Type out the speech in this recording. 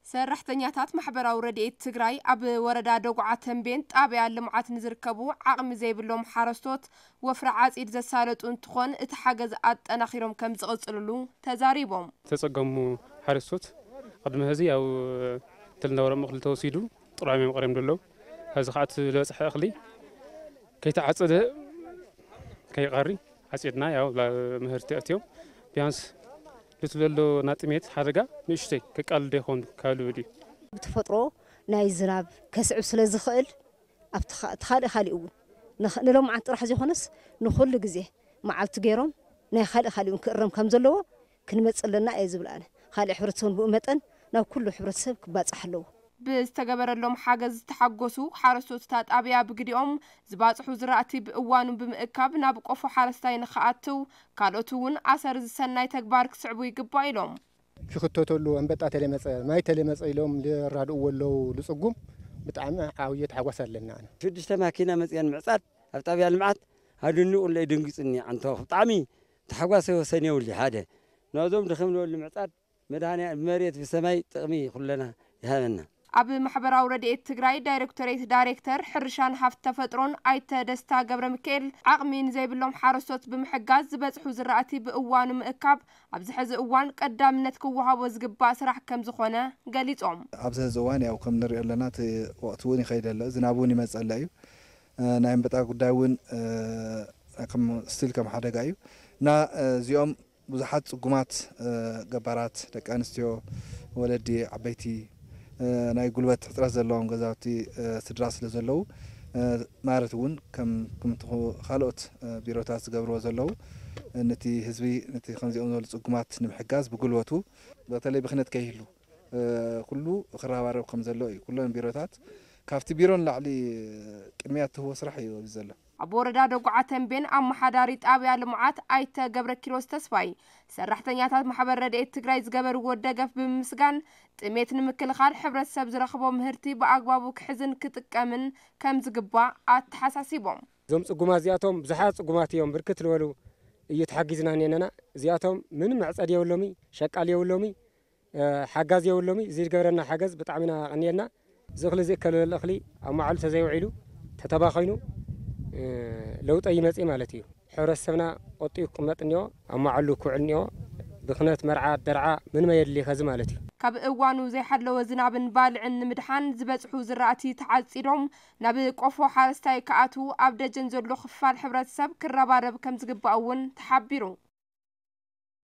ሰራሕተኛታት ማሕበራዊ ረድኤት ትግራይ ኣብ ወረዳ ደጉዓ ተንቤን ጣብያ ልምዓት ንዝርከቡ ዓቕሚ ዘይብሎም ሓረስቶት ወፍሪ ዓፂድ ዘሳለጡ እንትኾን፣ እቲ ሓገዝ ኣጠናኺሮም ከም ዝቕፅልሉ ተዛሪቦም። ተጸገሙ ሓረስቶት ቅድሚ ሕዚ ያው ትልናወረም እኽሊ ተወሲዱ ጥራም እዮም ቀሪም ደለዉ። ሕዚ ከዓ እቲ ዝበፅሐ እኽሊ ከይተዓፀደ ከይቐሪ ዓፂድና ያው ምህርቲ ኣእትዮም ቢያንስ ልትለሎ ናጥሜት ሓደጋ ንእሽተይ ከቃልል ዶ ይኸውን ካብ ልብል እዩ። ብተፈጥሮ ናይ ዝናብ ከስዕብ ስለ ዝኽእል ኣብቲ ኻ-፣ እቲ ካልእ ካሊእ እውን ንኽ-፣ ንሎምዓት ጥራሕ ዘይኮነስ ንኹሉ ግዜ መዓልቲ ገይሮም ናይ ካልእ ካሊእ እውን ክእረም ከም ዘለዎ ክንመጽእ ኣለና እየ ዝብል ኣነ። ካልእ ሕብረተሰብ ብኡ መጠን ናብ ኩሉ ሕብረተሰብ ክባጻሕ ኣለዎ። ብዝተገበረሎም ሓገዝ ዝተሓጎሱ ሓረስቶት እታ ጣብያ ብግዲኦም፣ ዝባጽሑ ዝራእቲ ብእዋኑ ብምእካብ ናብ ቆፎ ሓረስታይ ንኽኣትው፣ ካልኦት እውን ኣሰር ዝሰናይ ተግባር ክስዕቡ ይግባእ ኢሎም። ክኽተተሉ፣ ኣንበጣ ተለመጸ፣ ማይ ተለመጸ ኢሎም ዝራድእዎ ኣለዉ። ዝጽጉም ብጣዕሚ ዓብዪ ተሓጓስ ኣለና። ኣነ ሽዱሽተ ማኪና መጽየን ምዕጻድ ኣብ ጣብያ ልምዓት ኣደኒቑለይ ደንጊጹኒ። ኣንቶ ብጣዕሚ ተሓጓሰ ወሰን የብሉ። ሓደ ነዞም ድኽም ዝበሉ ምዕጻድ መድሃንያ ብመሬት ብሰማይ ጥቕሚ ኩለና ይሃበና። ኣብ ማሕበራዊ ረድኤት ትግራይ ዳይሬክቶሬት ዳይሬክተር ሕርሻን ሃፍቲ ተፈጥሮን ኣይተ ደስታ ገብረ ሚካኤል፣ ዓቕሚ ንዘይብሎም ሓረስቶት ብምሕጋዝ ዝበጽሑ ዝራእቲ ብእዋኑ ምእካብ ኣብዚ ሕዚ እዋን ቀዳምነት ክወሃቦ ዝግባእ ስራሕ ከም ዝኾነ ገሊጾም። ኣብዚ ሕዚ እዋን ያው ከም ንሪኦ ኣለና እቲ ወቕቲ እውን ይኸይድ ኣሎ፣ ዝናብ እውን ይመጽእ ኣሎ እዩ። እ፣ ናይ ኣንበጣ ጉዳይ እውን፣ እ፣ ከም ስቲል ከም ሓደጋ እዩ እና፣ እ፣ እዚኦም ብዙሓት ጽጉማት፣ እ፣ ገባራት፣ ደቂ ኣንስትዮ፣ ወለዲ፣ ዓበይቲ፣ እ፣ ናይ ጉልበት ሕጽረት ዘለዎም ገዛውቲ፣ እ፣ ስድራ ስለ ዘለዉ፣ እ፣ ማለት እውን ከም፣ ከምቲ ኹ-፣ ካልኦት፣ እ፣ ቢሮታት ዝገብርዎ ዘለዉ፣ እ፣ ነቲ ህዝቢ፣ ነቲ ከምዚኦም ዝበሉ ጽጉማት ንምሕጋዝ ብጉልበቱ፣ በተለይ ብኽነት ከይህሉ፣ እ፣ ኩሉ ክረባረብ ከም ዘለዎ እዩ። ኩለን ቢሮታት ካብቲ ቢሮ ንላዕሊ ቅድሚያ እትህቦ ስራሕ እዩ ኣብዚ ዘሎ። ኣብ ወረዳ ደጉዓ ተንቤን ኣመሓዳሪ ጣብያ ልምዓት ኣይተ ገብረ ኪሮስ ተስፋይ፣ ሰራሕተኛታት ማሕበር ረድኤት ትግራይ ዝገበርዎ ደገፍ ብምምስጋን፣ ጥሜት ንምክልኻል ሕብረተሰብ ዝረኽቦ ምህርቲ ብኣግባቡ ክሕዝን ክጥቀምን ከም ዝግባእ ኣተሓሳሲቦም። እዞም ጽጉማት እዚኣቶም ብዙሓት ጽጉማት እዮም፣ ብርክት ዝበሉ እዩ ተሓጊዝና እኔነና። እዚኣቶም ምንም መዕጸዲ የብሎሚ፣ ሸቃል የብሎሚ፣ እ፣ ሓጋዝ የብሎሚ። እዚ ዝገበረና ሓገዝ ብጣዕሚ ኢና ቀኒልና። እዚ እኽሊ እዚ እከለለ እኽሊ ኣብ መዓሉ ተዘይውዒሉ ተተባኺኑ፣ እ፣ ለውጠ ይመጽእ ማለት እዩ። ሕብረተሰብና ቆጢቡ ክቕመጥ እኒኦ፣ ኣብ መዓሉ ክውዕል እኒኦ። ብኽነት መርዓ፣ ደርዓ ምንም ኣየድሊ ከዚ ማለት እዩ። ካብ እዋኑ ዘይሓለወ ዝናብን ባልዕን ንምድሓን ዝበጽሑ ዝራእቲ ተዓጺዶም ናብ ቆፎ ሓረስታይ ክኣትዉ ኣብ ደጀን ዘሎ ክፋል ሕብረተሰብ ክረባረብ ከም ዝግባእ እውን ተሓቢሩ።